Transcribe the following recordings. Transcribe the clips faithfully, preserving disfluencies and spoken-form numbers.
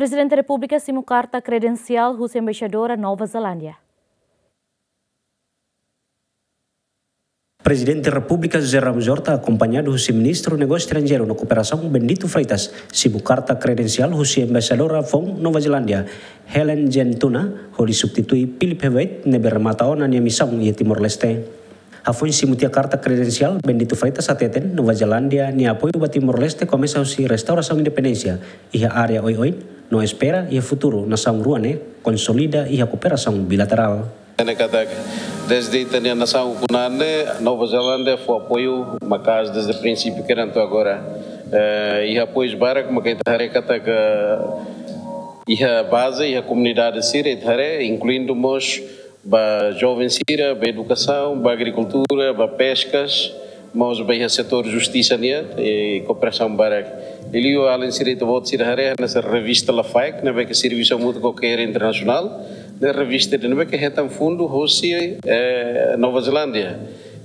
Prezidente Repúblika simu karta kredensiál husi Embaixadora Nova Zelándia. Prezidente Repúblika José Ramos Horta, akompañadu husi Ministru Negósiu Estranjeiru no Kooperasaun, Bendito Freitas, simu karta kredensiál husi Embaixadora foun Nova Zelándia, Helen Gentuna, hodi substitui Philip Hewitt, ne'ebé remata ona nia misaun iha Timor-Leste. Hafoin simu tiha karta kredensiál, Bendito Freitas hateten Nova Zelándia nia apoiu ba Timor-Leste komesa husi restaurasaun independénsia iha área oioin, no espera iha futuru nasaun rua ne'e konsolida iha kooperasaun bilaterál. Ne'e katak, dezde ita-nia nasaun ukun-an ne'e, Nova Zelándia fó apoiu maka'as dezde prinsípiu kedan to'o agora. Eh, iha apoius barak maka ita haree katak, iha baze, iha komunidade sira ita haree, inkluindu mós ba joven sira, ba edukasaun, ba agrikultura, ba peskas, mós ba iha setór justisa nian, i kooperasaun barak. Liuliu alin sira ita-boot sira haree, hanesan revista Lafaek, ne'ebé ke servisu hamutuk ho Care International, ne'e revista ida ne'ebé ke hetan fundu hosi, eh, Nova Zelándia.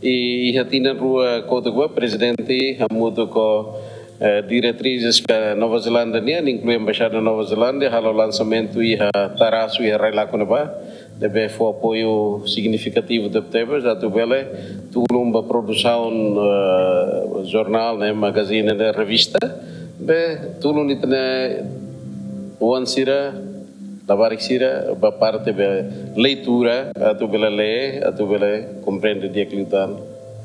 I iha tinan rua kotuk ba, prezidente hamutuk ho, eh, diretrizes ka Nova Zelándia nian, inklui Embaixada Nova Zelándia, halo lansamentu iha Tarasu, iha Railaco ne'ebá, ne'ebé fó apoiu signifikativu tebetebes, atu bele tulun ba produsaun, eh, jornál, ne'e, magazine, ne'e, revista, be tulun ita-nia oan sira, labarik sira, ba parte be leitura, atu bele lee, atu bele komprende di'ak liután.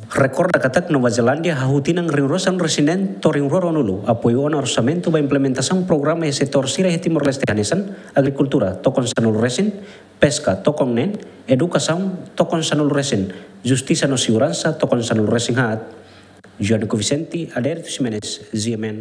Rekorda katak Nova Zelándia hahú tinan rihun rua sanulu-resin-neen to'o rihun rua ruanulu, apoiu ona orsamentu ba implementasaun programa iha setór sira iha Timor-Leste hanesan agrikultura, tokon sanulu-resin, peska, tokon neen, edukasaun, tokon sanulu-resin, justisa no seguransa, tokon sanulu-resin-haat. João Vicente, Adérito Ximenes, G M N.